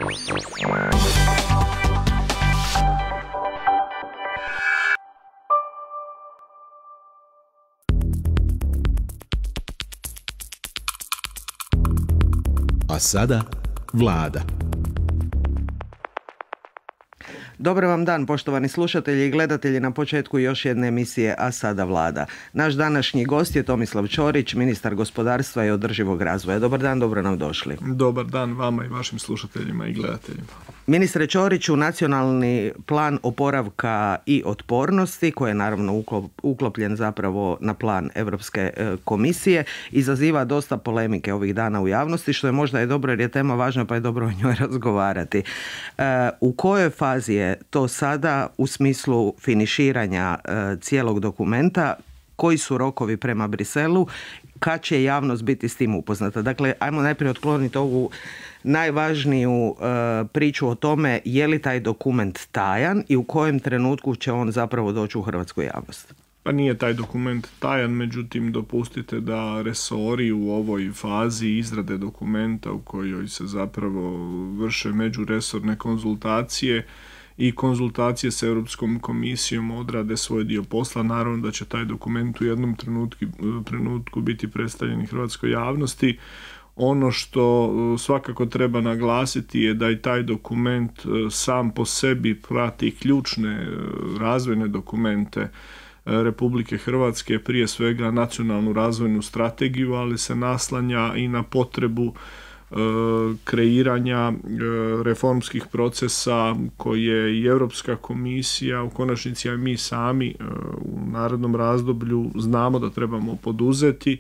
A sada Vlada. Dobar vam dan, poštovani slušatelji i gledatelji, na početku još jedne emisije A sada Vlada. Naš današnji gost je Tomislav Ćorić, ministar gospodarstva i održivog razvoja. Dobar dan, dobro nam došli. Dobar dan vama i vašim slušateljima i gledateljima. Ministre Ćoriću, nacionalni plan oporavka i otpornosti, koji je naravno uklopljen zapravo na plan Europske komisije, izaziva dosta polemike ovih dana u javnosti, što je možda i dobro jer je tema važna pa je dobro o njoj razgovarati. U kojoj fazi je to sada u smislu finiširanja cijelog dokumenta? Koji su rokovi prema Briselu? Kad će javnost biti s tim upoznata? Dakle, ajmo najprije otkloniti ovu najvažniju priču o tome je li taj dokument tajan i u kojem trenutku će on zapravo doći u hrvatsku javnost. Pa nije taj dokument tajan, međutim dopustite da resori u ovoj fazi izrade dokumenta u kojoj se zapravo vrše međuresorne konzultacije i konzultacije s Europskom komisijom odrade svoj dio posla. Naravno da će taj dokument u jednom trenutku biti predstavljen hrvatskoj javnosti. Ono što svakako treba naglasiti je da i taj dokument sam po sebi prati ključne razvojne dokumente Republike Hrvatske, prije svega nacionalnu razvojnu strategiju, ali se naslanja i na potrebu kreiranja reformskih procesa koje i Europska komisija, u konačnici i mi sami u narednom razdoblju znamo da trebamo poduzeti,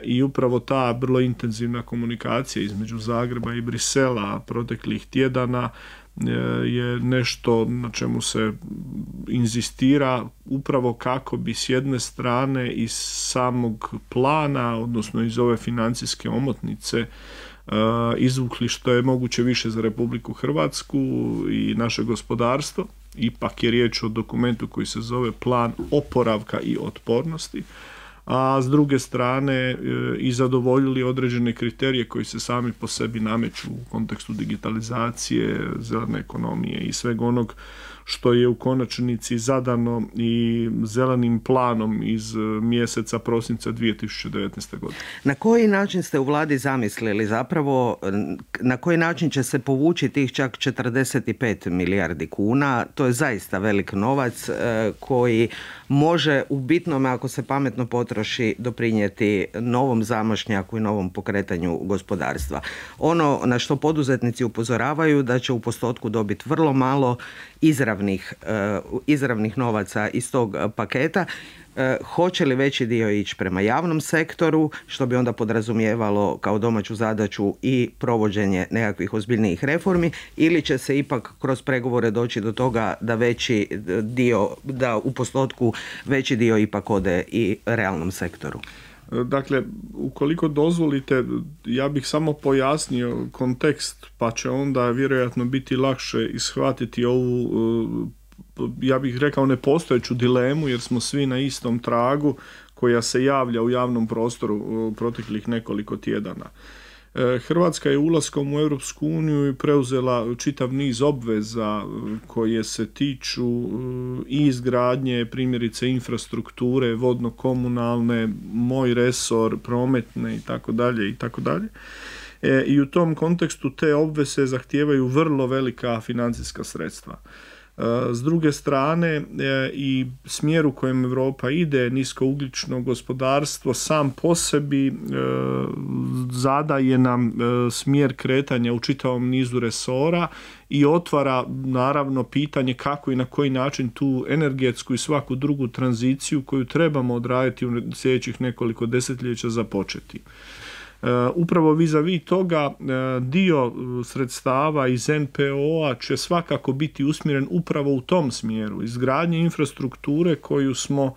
i upravo ta vrlo intenzivna komunikacija između Zagreba i Brisela proteklih tjedana je nešto na čemu se inzistira upravo kako bi s jedne strane iz samog plana, odnosno iz ove financijske omotnice, izvukli što je moguće više za Republiku Hrvatsku i naše gospodarstvo. Ipak je riječ o dokumentu koji se zove Plan oporavka i otpornosti, a s druge strane i zadovoljili određene kriterije koji se sami po sebi nameću u kontekstu digitalizacije, zelene ekonomije i svega onog što je u konačnici zadano i zelenim planom iz mjeseca prosinca 2019. godine. Na koji način ste u Vladi zamislili zapravo, na koji način će se povući tih čak 45 milijardi kuna? To je zaista velik novac koji može u bitnome, ako se pametno potroši, doprinijeti novom zamašnjaku i novom pokretanju gospodarstva. Ono na što poduzetnici upozoravaju da će u postotku dobiti vrlo malo izravnih novaca iz tog paketa. Hoće li veći dio ići prema javnom sektoru, što bi onda podrazumijevalo kao domaću zadaću i provođenje nekakvih ozbiljnijih reformi, ili će se ipak kroz pregovore doći do toga da veći dio, da u postotku veći dio ipak ode i realnom sektoru? Dakle, ukoliko dozvolite, ja bih samo pojasnio kontekst, pa će onda vjerojatno biti lakše ishvatiti ovu, ja bih rekao, nepostojeću dilemu, jer smo svi na istom tragu koja se javlja u javnom prostoru proteklih nekoliko tjedana. Hrvatska je ulaskom u Europsku uniju preuzela čitav niz obveza koje se tiču i izgradnje, primjerice infrastrukture, vodno-komunalne, moj resor, prometne itd. I u tom kontekstu te obveze zahtijevaju vrlo velika financijska sredstva. S druge strane, i smjer u kojem Europa ide, niskougljično gospodarstvo sam po sebi zadaje nam smjer kretanja u čitavom nizu resora i otvara naravno pitanje kako i na koji način tu energetsku i svaku drugu tranziciju koju trebamo odraditi u sljedećih nekoliko desetljeća započeti. Upravo vis-a-vis toga dio sredstava iz NPO-a će svakako biti usmjeren upravo u tom smjeru, izgradnje infrastrukture koju smo,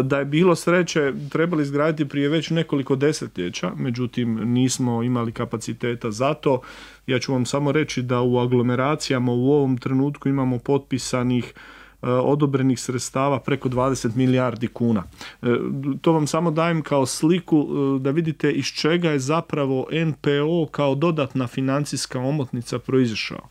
da je bilo sreće, trebali izgraditi prije već nekoliko desetljeća, međutim nismo imali kapaciteta za to. Ja ću vam samo reći da u aglomeracijama u ovom trenutku imamo potpisanih odobrenih sredstava preko 20 milijardi kuna. To vam samo dajem kao sliku da vidite iz čega je zapravo NPO kao dodatna financijska omotnica proizašao.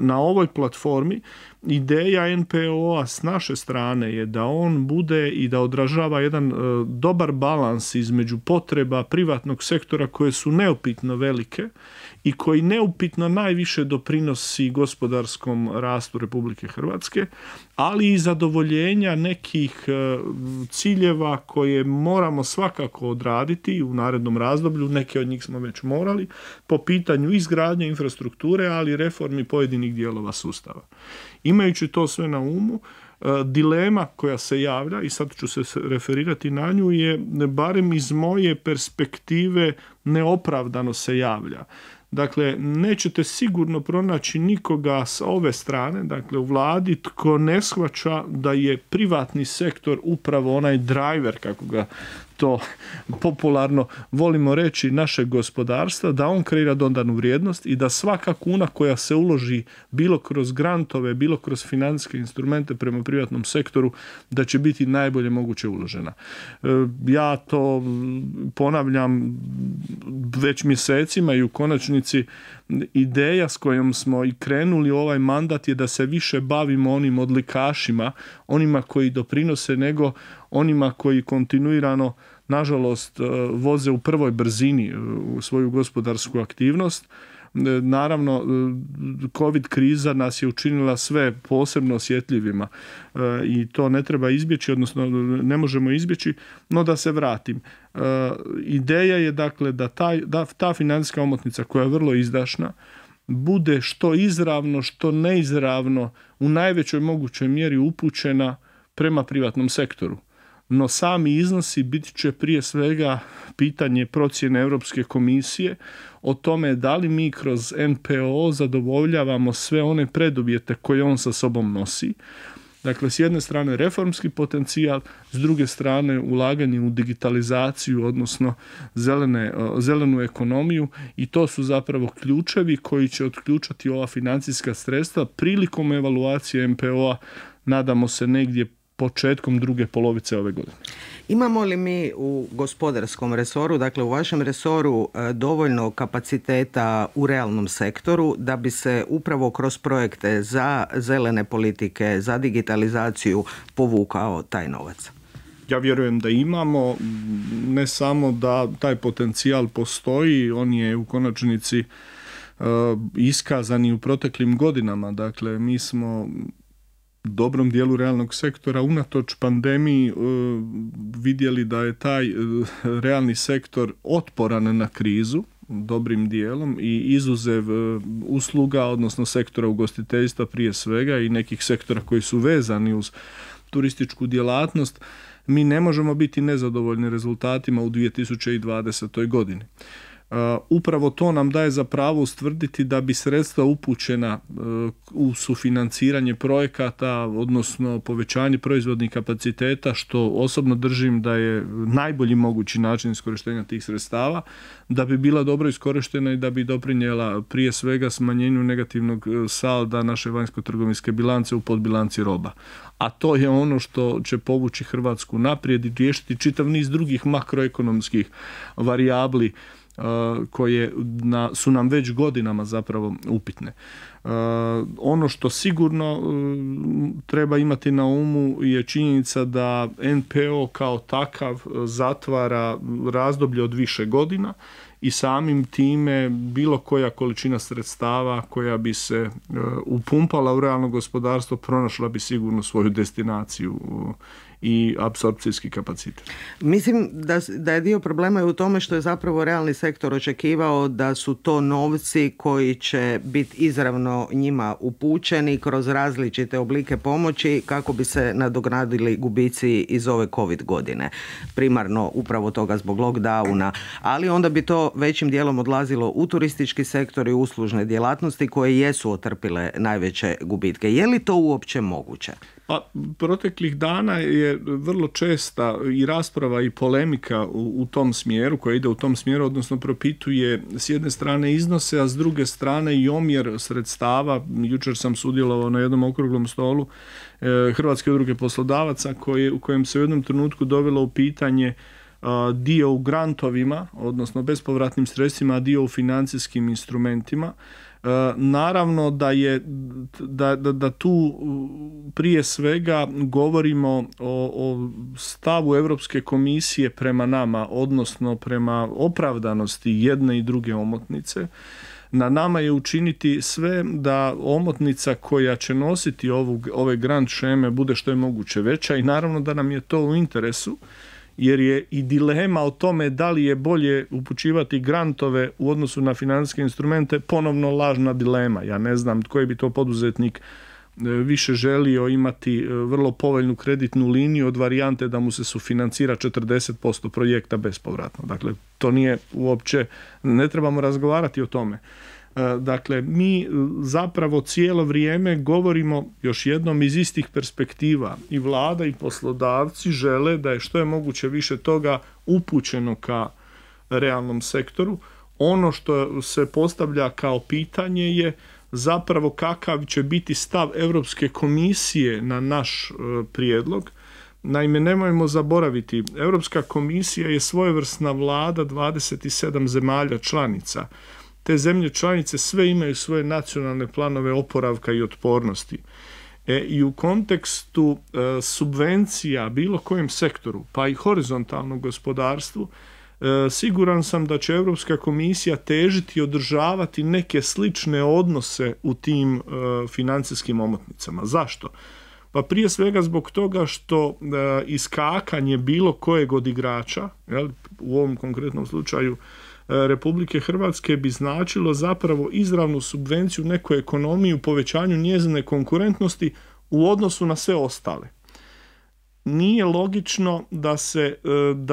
Na ovoj platformi ideja NPO-a s naše strane je da on bude i da odražava jedan dobar balans između potreba privatnog sektora koje su neupitno velike i koji neupitno najviše doprinosi gospodarskom rastu Republike Hrvatske, ali i zadovoljenja nekih ciljeva koje moramo svakako odraditi u narednom razdoblju, neke od njih smo već morali, po pitanju izgradnje infrastrukture, ali i reformi pojedinih dijelova sustava. Imajući to sve na umu, dilema koja se javlja, i sad ću se referirati na nju, je barem iz moje perspektive neopravdano se javlja. Dakle, nećete sigurno pronaći nikoga s ove strane, dakle u vladi, tko ne shvaća da je privatni sektor upravo onaj driver, kako ga to popularno volimo reći, našeg gospodarstva, da on kreira dodanu vrijednost i da svaka kuna koja se uloži bilo kroz grantove, bilo kroz financijske instrumente prema privatnom sektoru, da će biti najbolje moguće uložena. Ja to ponavljam već mjesecima i u konačnici ideja s kojom smo i krenuli ovaj mandat je da se više bavimo onim odlikašima, onima koji doprinose, nego onima koji kontinuirano, nažalost, voze u prvoj brzini u svoju gospodarsku aktivnost. Naravno, COVID kriza nas je učinila sve posebno osjetljivima i to ne treba izbjeći, odnosno ne možemo izbjeći, no da se vratim. Ideja je dakle da ta financijska omotnica koja je vrlo izdašna bude što izravno, što neizravno u najvećoj mogućoj mjeri upućena prema privatnom sektoru. No sami iznosi bit će prije svega pitanje procjene Europske komisije o tome da li mi kroz NPO zadovoljavamo sve one preduvjete koje on sa sobom nosi. Dakle, s jedne strane reformski potencijal, s druge strane ulaganje u digitalizaciju, odnosno zelenu ekonomiju, i to su zapravo ključevi koji će otključati ova financijska sredstva prilikom evaluacije NPO-a, nadamo se negdje početkom druge polovice ove godine. Imamo li mi u gospodarskom resoru, dakle u vašem resoru, dovoljno kapaciteta u realnom sektoru da bi se upravo kroz projekte za zelene politike, za digitalizaciju povukao taj novac? Ja vjerujem da imamo, ne samo da taj potencijal postoji, on je u konačnici iskazan i u proteklim godinama. Dakle, mi smo dobrom dijelu realnog sektora unatoč pandemiji vidjeli da je taj realni sektor otporan na krizu dobrim dijelom i izuzev usluga, odnosno sektora ugostiteljstva prije svega i nekih sektora koji su vezani uz turističku djelatnost, mi ne možemo biti nezadovoljni rezultatima u 2020. godini. Upravo to nam daje za pravo ustvrditi da bi sredstva upućena u sufinanciranje projekata, odnosno povećanje proizvodnih kapaciteta, što osobno držim da je najbolji mogući način iskorištenja tih sredstava, da bi bila dobro iskorištena i da bi doprinijela prije svega smanjenju negativnog salda naše vanjsko-trgovinske bilance u podbilanci roba. A to je ono što će povući Hrvatsku naprijed i riješiti čitav niz drugih makroekonomskih varijabli koje su nam već godinama zapravo upitne. Ono što sigurno treba imati na umu je činjenica da NPO kao takav zatvara razdoblje od više godina i samim time bilo koja količina sredstava koja bi se upumpala u realno gospodarstvo pronašla bi sigurno svoju destinaciju i apsorpcijski kapacitet. Mislim da je dio problema i u tome što je zapravo realni sektor očekivao da su to novci koji će biti izravno njima upućeni kroz različite oblike pomoći kako bi se nadoknadili gubici iz ove COVID godine. Primarno upravo toga zbog lockdowna, ali onda bi to većim dijelom odlazilo u turistički sektor i uslužne djelatnosti koje jesu otrpile najveće gubitke. Je li to uopće moguće? Pa, proteklih dana je je vrlo česta i rasprava i polemika u tom smjeru, koja ide u tom smjeru, odnosno propituje s jedne strane iznose, a s druge strane i omjer sredstava. Jučer sam sudjelovao na jednom okruglom stolu Hrvatske udruge poslodavaca u kojem se u jednom trenutku dovelo u pitanje dio u grantovima, odnosno bespovratnim sredstvima, a dio u financijskim instrumentima. Naravno da tu prije svega govorimo o stavu Europske komisije prema nama, odnosno prema opravdanosti jedne i druge omotnice. Na nama je učiniti sve da omotnica koja će nositi ove grant sheme bude što je moguće veća i naravno da nam je to u interesu, jer je i dilema o tome da li je bolje upućivati grantove u odnosu na financijske instrumente ponovno lažna dilema. Ja ne znam koji bi to poduzetnik više želio imati vrlo povoljnu kreditnu liniju od varijante da mu se sufinancira 40% projekta bespovratno. Dakle, to nije uopće, ne trebamo razgovarati o tome. Dakle, mi zapravo cijelo vrijeme govorimo još jednom iz istih perspektiva. I vlada i poslodavci žele da je što je moguće više toga upućeno ka realnom sektoru. Ono što se postavlja kao pitanje je zapravo kakav će biti stav Europske komisije na naš prijedlog. Naime, nemojmo zaboraviti, Europska komisija je svojevrsna vlada 27 zemalja članica. Te zemlje članice sve imaju svoje nacionalne planove oporavka i otpornosti. I u kontekstu subvencija bilo kojem sektoru, pa i horizontalnom gospodarstvu, siguran sam da će Europska komisija težiti i održavati neke slične odnose u tim financijskim omotnicama. Zašto? Pa prije svega zbog toga što iskakanje bilo kojeg od igrača, u ovom konkretnom slučaju Republike Hrvatske, bi značilo zapravo izravnu subvenciju nekoj ekonomiji u povećanju njezine konkurentnosti u odnosu na sve ostale. Nije logično da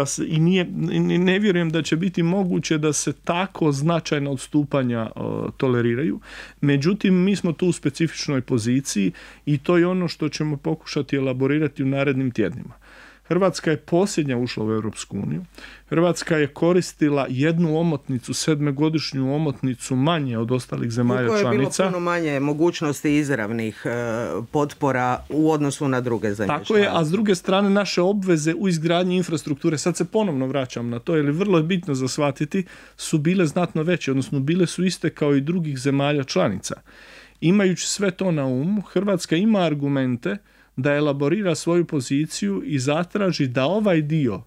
se i ne vjerujem da će biti moguće da se tako značajna odstupanja toleriraju. Međutim, mi smo tu u specifičnoj poziciji i to je ono što ćemo pokušati elaborirati u narednim tjednima. Hrvatska je posljednja ušla u Europsku uniju. Hrvatska je koristila jednu omotnicu, 7-godišnju omotnicu manje od ostalih zemalja članica. U kojoj je bilo puno manje mogućnosti izravnih potpora u odnosu na druge zemlje članice. Tako je, a s druge strane naše obveze u izgradnji infrastrukture, sad se ponovno vraćam na to, jer je vrlo bitno za shvatiti, su bile znatno veće, odnosno bile su iste kao i drugih zemalja članica. Imajući sve to na umu, Hrvatska ima argumente da elaborira svoju poziciju i zatraži da ovaj dio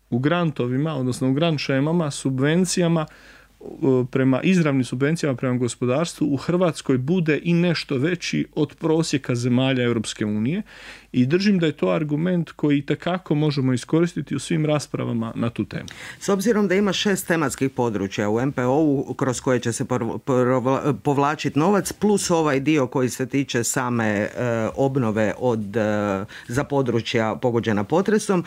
u grantovima, odnosno u grant shemama, subvencijama, prema izravnim subvencijama prema gospodarstvu u Hrvatskoj bude i nešto veći od prosjeka zemalja Europske unije i držim da je to argument koji itekako možemo iskoristiti u svim raspravama na tu temu. S obzirom da ima 6 tematskih područja u MPO-u kroz koje će se povlačiti novac, plus ovaj dio koji se tiče same obnove za područja pogođena potresom,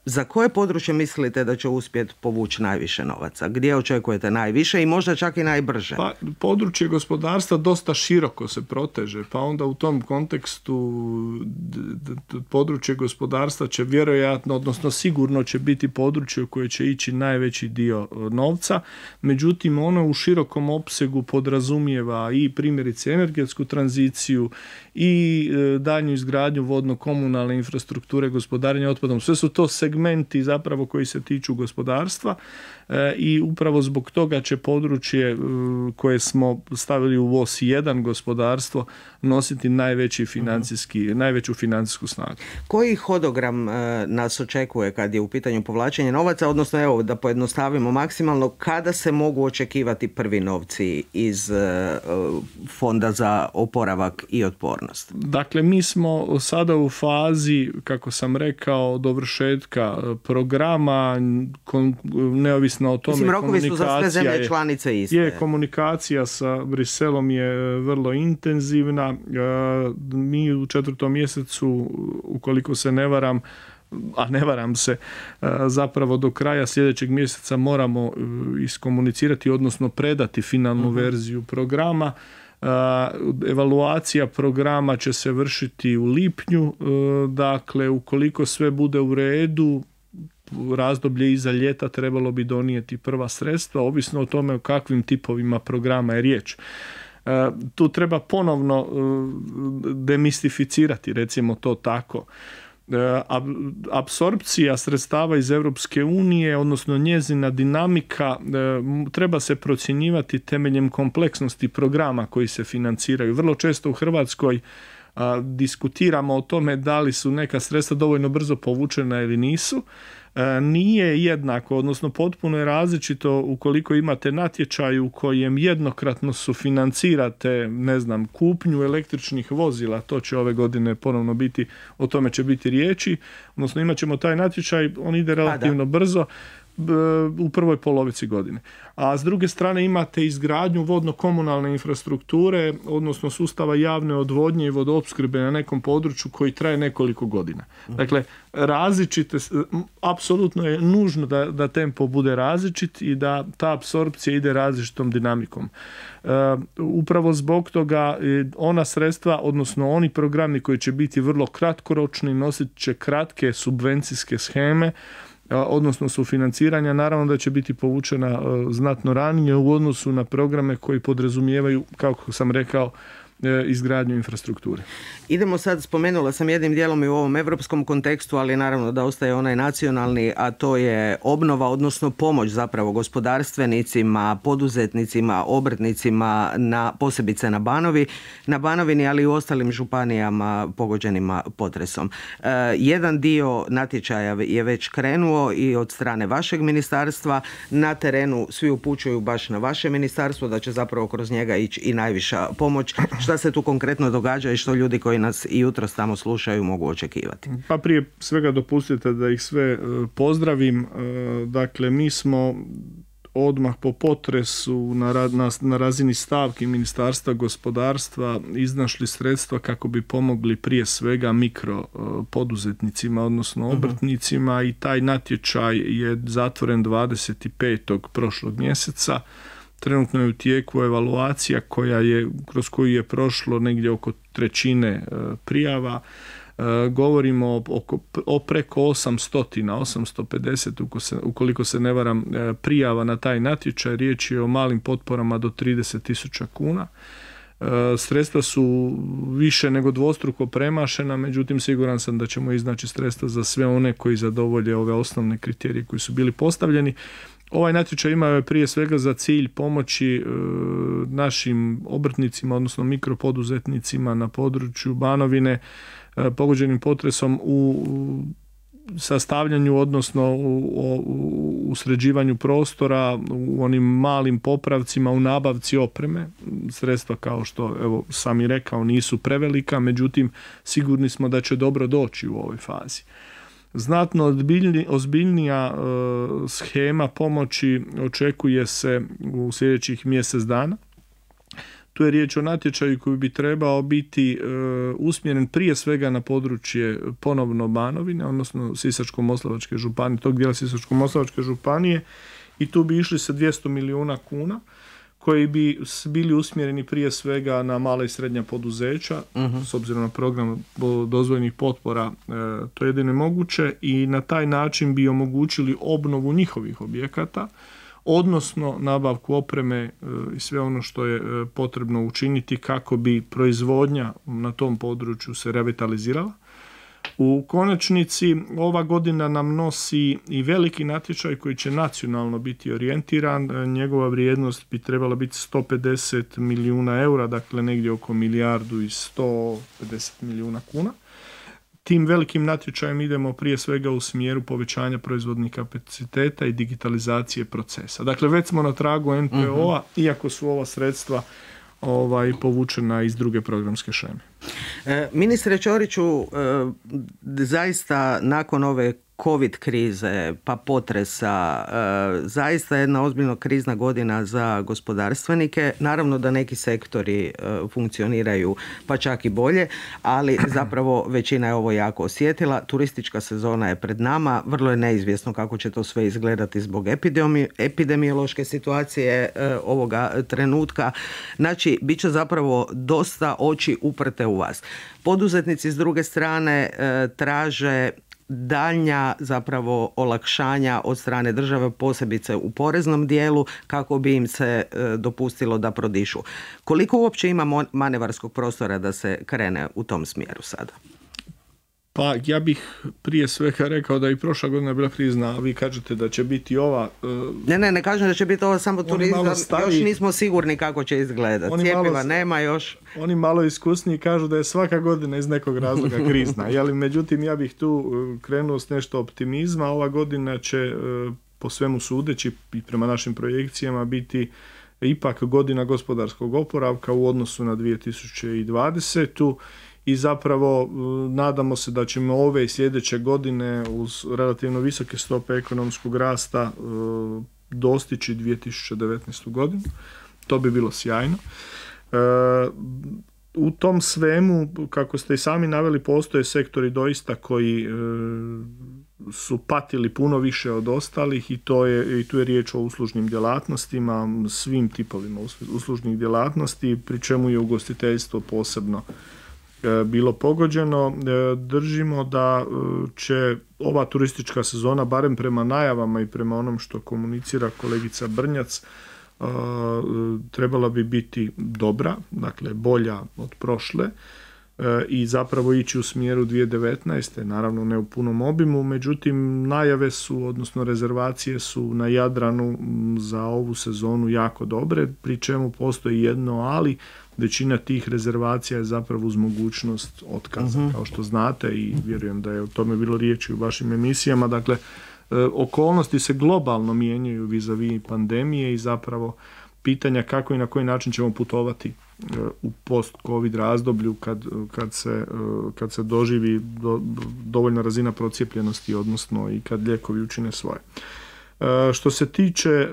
za koje područje mislite da će uspjeti povući najviše novaca? Gdje očekujete najviše i možda čak i najbrže? Pa, područje gospodarstva dosta široko se proteže, pa onda u tom kontekstu područje gospodarstva će vjerojatno, odnosno sigurno će biti područje u koje će ići najveći dio novca. Međutim, ono u širokom opsegu podrazumijeva i primjerice energetsku tranziciju i daljnju izgradnju vodno-komunalne infrastrukture, gospodarenja otpadom. Sve su to segmenti zapravo koji se tiču gospodarstva i upravo zbog toga će područje koje smo stavili u VOS 1 gospodarstvo nositi najveću financijsku snagu. Koji hodogram nas očekuje kad je u pitanju povlačenje novaca, odnosno evo da pojednostavimo maksimalno, kada se mogu očekivati prvi novci iz Fonda za oporavak i otpornost? Dakle, mi smo sada u fazi, kako sam rekao, dovršetka programa, neovisno o tome, rokovi su za sve zemlje članice iste. Je, komunikacija sa Briselom je vrlo intenzivna. Mi u 4. mjesecu, ukoliko se ne varam, a ne varam se, zapravo do kraja sljedećeg mjeseca moramo iskomunicirati, odnosno predati finalnu verziju programa. Evaluacija programa će se vršiti u lipnju, dakle ukoliko sve bude u redu, razdoblje iza ljeta trebalo bi donijeti prva sredstva, ovisno o tome o kakvim tipovima programa je riječ. Tu treba ponovno demistificirati, recimo to tako. Apsorpcija sredstava iz Europske unije, odnosno njezina dinamika, treba se procjenjivati temeljem kompleksnosti programa koji se financiraju. Vrlo često u Hrvatskoj diskutiramo o tome da li su neka sredstva dovoljno brzo povučena ili nisu. Nije jednako, odnosno potpuno je različito ukoliko imate natječaj u kojem jednokratno sufinancirate, ne znam, kupnju električnih vozila, to će ove godine ponovno biti, o tome će biti riječi, odnosno imat ćemo taj natječaj, on ide relativno brzo, u prvoj polovici godine. A s druge strane imate izgradnju vodno-komunalne infrastrukture, odnosno sustava javne odvodnje i vodoopskrbe na nekom području koji traje nekoliko godina. Dakle, različite, apsolutno je nužno da tempo bude različit i da ta apsorpcija ide različitom dinamikom. Upravo zbog toga ona sredstva, odnosno oni programi koji će biti vrlo kratkoročni, nosit će kratke subvencijske sheme, odnosno sufinanciranja, naravno da će biti povučena znatno ranije u odnosu na programe koji podrazumijevaju, kako sam rekao, izgradnju infrastrukture. Idemo sad, spomenula sam jednim dijelom i u ovom europskom kontekstu, ali naravno da ostaje onaj nacionalni, a to je obnova, odnosno pomoć zapravo gospodarstvenicima, poduzetnicima, obrtnicima, posebice na Banovini, ali i u ostalim županijama pogođenima potresom. Jedan dio natječaja je već krenuo i od strane vašeg ministarstva. Na terenu svi upućuju baš na vaše ministarstvo da će zapravo kroz njega ići i najviša pomoć. Šta se tu konkretno događa i što ljudi koji nas i jutros tamo slušaju mogu očekivati? Pa prije svega dopustite da ih sve pozdravim. Dakle, mi smo odmah po potresu na razini stavki Ministarstva gospodarstva iznašli sredstva kako bi pomogli prije svega mikro poduzetnicima, odnosno obrtnicima, i taj natječaj je zatvoren 25. prošlog mjeseca. Trenutno je u tijeku evaluacija kroz koju je prošlo negdje oko trećine prijava. Govorimo o preko 850, ukoliko se ne varam, prijava na taj natječaj. Riječ je o malim potporama do 30.000 kuna. Sredstva su više nego dvostruko premašena, međutim siguran sam da ćemo iznaći sredstva za sve one koji zadovolje ove osnovne kriterije koji su bili postavljeni. Ovaj natječaj ima prije svega za cilj pomoći našim obrtnicima, odnosno mikropoduzetnicima na području Banovine pogođenim potresom u sastavljanju, odnosno u sređivanju prostora, u onim malim popravcima, u nabavci opreme. Sredstva, kao što evo sam i rekao, nisu prevelika, međutim sigurni smo da će dobro doći u ovoj fazi. Znatno ozbiljnija shema pomoći očekuje se u sljedećih mjesec dana. Tu je riječ o natječaju koji bi trebao biti usmjeren prije svega na područje ponovno Banovine, odnosno Sisačko-moslavačke županije, tog dijela Sisačko-moslavačke županije, i tu bi išli sa 200 milijuna kuna koji bi bili usmjereni prije svega na mala i srednja poduzeća, s obzirom na program dozvoljenih potpora, to je jedino moguće, i na taj način bi omogućili obnovu njihovih objekata, odnosno nabavku opreme i sve ono što je potrebno učiniti kako bi proizvodnja na tom području se revitalizirala. U konačnici ova godina nam nosi i veliki natječaj koji će nacionalno biti orijentiran. Njegova vrijednost bi trebala biti 150 milijuna eura, dakle negdje oko 1.150 milijuna kuna. Tim velikim natječajem idemo prije svega u smjeru povećanja proizvodnih kapaciteta i digitalizacije procesa. Dakle, već smo na tragu NPO-a, iako su ova sredstva povučena iz druge programske sheme. Ministre Ćoriću, zaista nakon ove COVID krize, pa potresa, zaista jedna ozbiljno krizna godina za gospodarstvenike. Naravno da neki sektori funkcioniraju pa čak i bolje, ali zapravo većina je ovo jako osjetila. Turistička sezona je pred nama, vrlo je neizvjesno kako će to sve izgledati zbog epidemiološke situacije ovoga trenutka. Znači, bit će zapravo dosta oči uprte u vas. Poduzetnici s druge strane traže daljnja zapravo olakšanja od strane države, posebice u poreznom dijelu, kako bi im se dopustilo da prodišu. Koliko uopće ima manevarskog prostora da se krene u tom smjeru sada? Pa ja bih prije svega rekao da i prošla godina je bila krizna, a vi kažete da će biti ova... Ne kažem da će biti ova samo turizam, još nismo sigurni kako će izgledati. Cjepiva nema još. Oni malo iskusniji kažu da je svaka godina iz nekog razloga krizna. Međutim, ja bih tu krenuo s nešto optimizma. Ova godina će, po svemu sudeći i prema našim projekcijama, biti ipak godina gospodarskog oporavka u odnosu na 2020. I zapravo nadamo se da ćemo ove i sljedeće godine uz relativno visoke stope ekonomskog rasta dostići 2019. godinu. To bi bilo sjajno. U tom svemu, kako ste i sami naveli, postoje sektori doista koji su patili puno više od ostalih i tu je riječ o uslužnim djelatnostima, svim tipovima uslužnih djelatnosti, pri čemu je ugostiteljstvo posebno bilo pogođeno. Držimo da će ova turistička sezona, barem prema najavama i prema onom što komunicira kolegica Brnjac, trebala bi biti dobra, dakle bolja od prošle i zapravo ići u smjeru 2019. Naravno ne u punom obimu, međutim najave su, odnosno rezervacije su na Jadranu za ovu sezonu jako dobre, pri čemu postoji jedno ali, većina tih rezervacija je zapravo uz mogućnost otkaza, kao što znate, i vjerujem da je o tome bilo riječi u vašim emisijama. Dakle, okolnosti se globalno mijenjaju vis-a-vis pandemije i zapravo pitanja kako i na koji način ćemo putovati u post-covid razdoblju kad se doživi dovoljna razina procijepljenosti, odnosno i kad lijekovi učine svoje. Što se tiče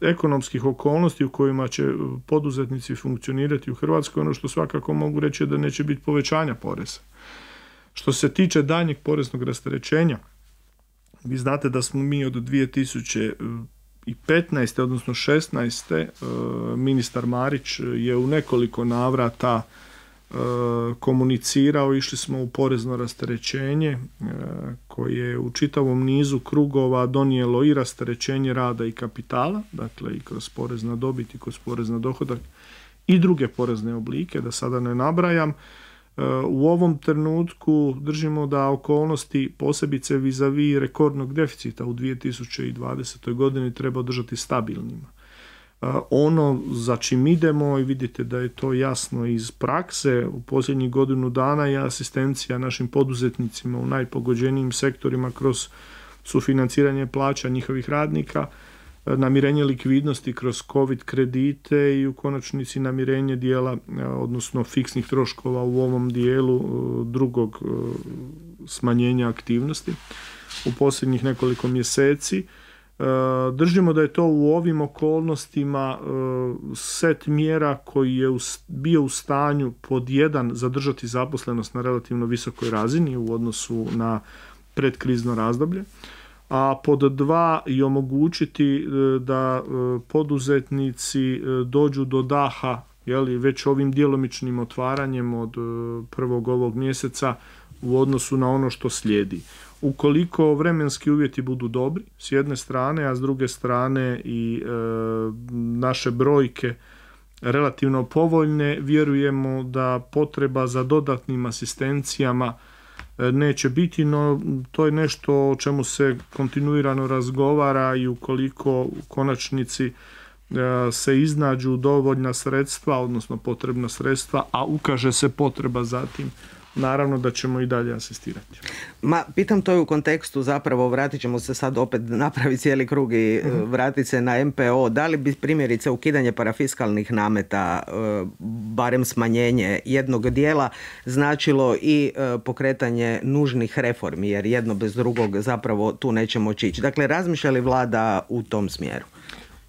ekonomskih okolnosti u kojima će poduzetnici funkcionirati u Hrvatskoj, ono što svakako mogu reći je da neće biti povećanja poreza. Što se tiče daljnjeg poreznog rasterećenja, vi znate da smo mi od 2015. odnosno 16. Ministar Marić je u nekoliko navrata komunicirao, išli smo u porezno rasterećenje koje je u čitavom nizu krugova donijelo i rasterećenje rada i kapitala, dakle i kroz porez na dobit i kroz porez na dohodak i druge porezne oblike, da sada ne nabrajam. U ovom trenutku držimo da okolnosti, posebice vis-a-vis rekordnog deficita u 2020. godini, treba držati stabilnima. Ono za čim idemo, i vidite da je to jasno iz prakse, u posljednjih godinu dana je asistencija našim poduzetnicima u najpogođenijim sektorima kroz sufinanciranje plaća njihovih radnika, namirenje likvidnosti kroz COVID kredite i u konačnici namirenje dijela, odnosno fiksnih troškova u ovom dijelu drugog smanjenja aktivnosti u posljednjih nekoliko mjeseci. Držimo da je to u ovim okolnostima set mjera koji je bio u stanju pod jedan zadržati zaposlenost na relativno visokoj razini u odnosu na predkrizno razdoblje, a pod dva i omogućiti da poduzetnici dođu do daha već ovim djelomičnim otvaranjem od prvog ovog mjeseca u odnosu na ono što slijedi. Ukoliko vremenski uvjeti budu dobri s jedne strane, a s druge strane i naše brojke relativno povoljne, vjerujemo da potreba za dodatnim asistencijama neće biti, no to je nešto o čemu se kontinuirano razgovara i ukoliko u konačnici se iznađu dovoljna sredstva, odnosno potrebna sredstva, a ukaže se potreba za tim, naravno da ćemo i dalje asistirati. Pitam to je u kontekstu, zapravo vratit ćemo se sad opet napraviti cijeli krug i vratiti se na MPO. Da li bi primjerice ukidanje parafiskalnih nameta, barem smanjenje jednog dijela, značilo i pokretanje nužnih reformi, jer jedno bez drugog zapravo tu nećemo ići. Dakle, razmišlja li vlada u tom smjeru?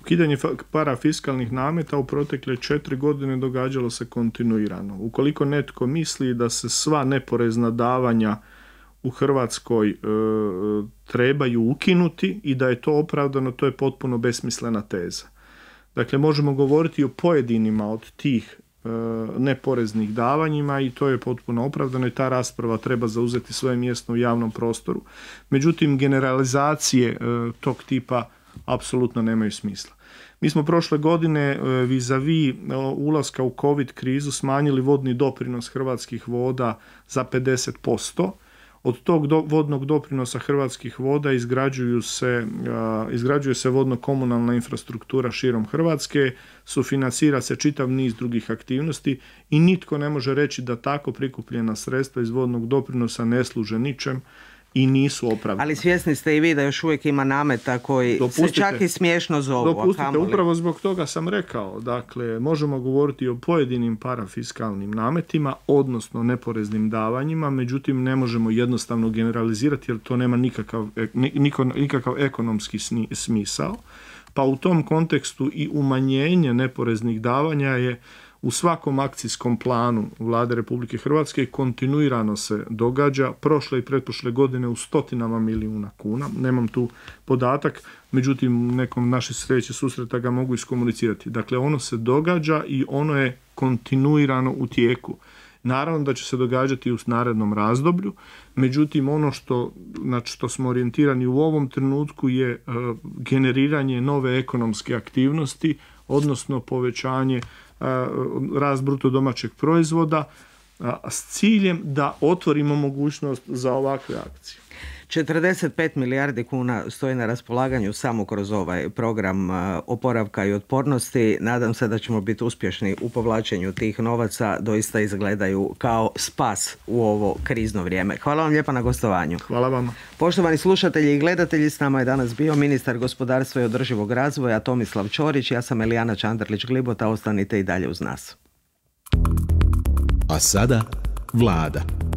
Ukidanje parafiskalnih nameta u protekle 4 godine događalo se kontinuirano. Ukoliko netko misli da se sva neporezna davanja u Hrvatskoj trebaju ukinuti i da je to opravdano, to je potpuno besmislena teza. Dakle, možemo govoriti o pojedinima od tih neporeznih davanjima i to je potpuno opravdano i ta rasprava treba zauzeti svoje mjesto u javnom prostoru. Međutim, generalizacije tog tipa apsolutno nemaju smisla. Mi smo prošle godine vis-a-vis ulaska u COVID krizu smanjili vodni doprinos Hrvatskih voda za 50%. Od tog vodnog doprinosa Hrvatskih voda izgrađuje se vodno-komunalna infrastruktura širom Hrvatske, sufinancira se čitav niz drugih aktivnosti i nitko ne može reći da tako prikupljena sredstva iz vodnog doprinosa ne služe ničem i nisu opravdani. Ali svjesni ste i vi da još uvijek ima nameta koji se čak i smiješno zovu. Dopustite, upravo zbog toga sam rekao, dakle, možemo govoriti o pojedinim parafiskalnim nametima, odnosno neporeznim davanjima, međutim ne možemo jednostavno generalizirati jer to nema nikakav ekonomski smisao, pa u tom kontekstu i umanjenje neporeznih davanja je u svakom akcijskom planu Vlade Republike Hrvatske kontinuirano se događa, prošle i pretprošle godine u stotinama milijuna kuna, nemam tu podatak, međutim nekom naše sljedeće susreta ga mogu iskomunicirati. Dakle, ono se događa i ono je kontinuirano u tijeku. Naravno da će se događati u narednom razdoblju, međutim ono na što smo orijentirani u ovom trenutku je generiranje nove ekonomske aktivnosti, odnosno povećanje rast bruto domaćeg proizvoda s ciljem da otvorimo mogućnost za ovakve akcije. 45 milijardi kuna stoji na raspolaganju samo kroz ovaj program oporavka i otpornosti. Nadam se da ćemo biti uspješni u povlačenju tih novaca. Doista izgledaju kao spas u ovo krizno vrijeme. Hvala vam lijepa na gostovanju. Hvala vama. Poštovani slušatelji i gledatelji, s nama je danas bio ministar gospodarstva i održivog razvoja Tomislav Ćorić. Ja sam Elijana Čandarlić-Glibota. Ostanite i dalje uz nas. A sada Vlada.